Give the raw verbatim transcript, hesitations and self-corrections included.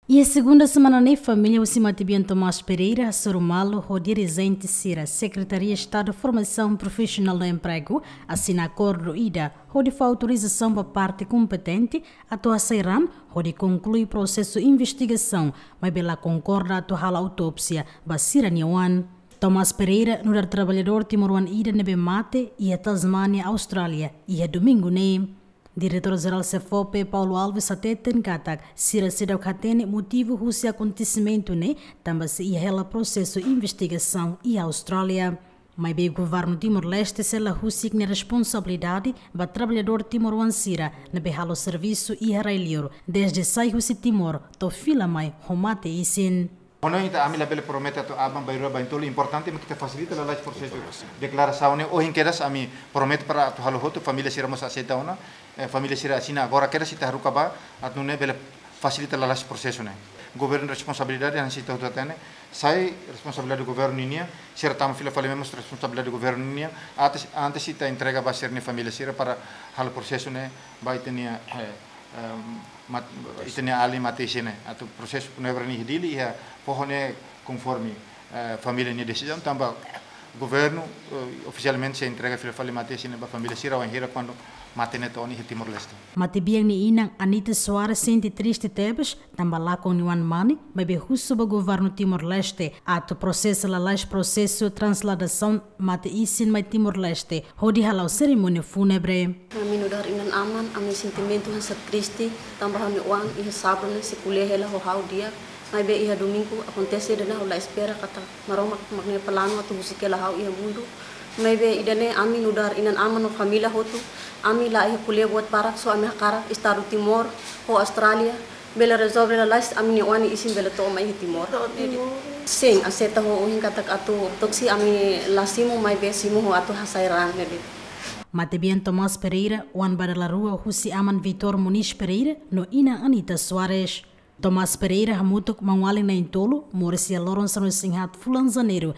Iha segunda semana ne'e, família husi matebian Tomás Pereira hasoru malu ho dirijente sira Sekretaria Estadu Formasaun Profisionál no Empregu asina akordu ida hodi fó autorizasaun ba parte kompetente atu hasai raan hodi konklui prosesu investigasaun, maibé la konkorda atu halo autópsia ba sira-nia oan. Tomás Pereira nu'udar traballadór timoroan ida ne'ebé mate iha Tasmania, Austrália, iha domingu ne'e. Diretór Jerál SEFOPE, Paulo Alves, hateten katak sira seidauk hatene motivu husi akontesimentu ne'e, tanba sei iha hela prosesu investigasaun iha Austrália. Maibé governu Timor-Leste sei la husik nia responsabilidade ba traballadór timoroan sira ne'ebé halo servisu iha rai-liur, dezde sai husi Timor to'o fila mai ho mate-isin. Ohin ita, ami labele promete atu aban-bainrua, baintolu, importante mak ita fasilita lalais prosesu deklarasaun ne'e. Ohin kedas ami promete para atu halo hotu, família sira mós aseita ona, eh, família sira asina agora kedas ita haruka ba, atu nune'e bele fasilita lalais prosesu ne'e. Governu responsabilidade, hanesan ita hotu hatene, sai responsabilidade governu ninian, sira tama fila fali mós responsabilidade governu ninian, antes, antes ita entrega ba sira-nia família sira para halo prosesu ne'e ba ita-nia, eh, ehm, mat-, ita-nia alin mate-isin ne'e, atu prosesu funebre ne'e iha Dili, iha foho ne'e konforme, eh, família nia desizaun, tanba governu, eh, ofisialmente sei entrega fila fali mate-isin ne'e ba família sira wainhira kuandu mate ne'e to'o ona iha Timor-Leste. Matebian nia inan Anita Soares sente triste tebes, tanba lakon nia oan mane, maibé husu ba governu Timor-Leste atu prosesa lalais prosesu transladasaun mate-isin mai Timor-Leste, hodi hala'o serimónia fúnebre. Ami nu'udar inan-aman, ami sentimentu hanesan triste, tanba ha'u-nia oan iha sábadu ne'e sei ko'alia hela ho ha'u di'ak, maibé iha domingu akontese ida ne'ebé ha'u la espera katak Maromak mak nia planu atu husik hela ha'u iha mundu. Maibé ida-ne'e ami nu'udar inan-aman no família hotu, ami la iha ko'alia buat barak, só ami hakarak Estadu Timor ho Austrália bele rezolve lalais ami-nia oan nia isin bele to'o mai iha Timor. To'o Timor. Sin, aseita ho ohin katak atu autópsia, ami la simu, maibé simu ho atu hasai raan ne'e de'it. Matebian Tomás Pereira, oan ba dala rua husi aman Vitor Moniz Pereira no inan Anita Soares. Tomás Pereira hamutuk maun-alin na'in-tolu moris iha loron sanulu-resin-haat fulan Janeiru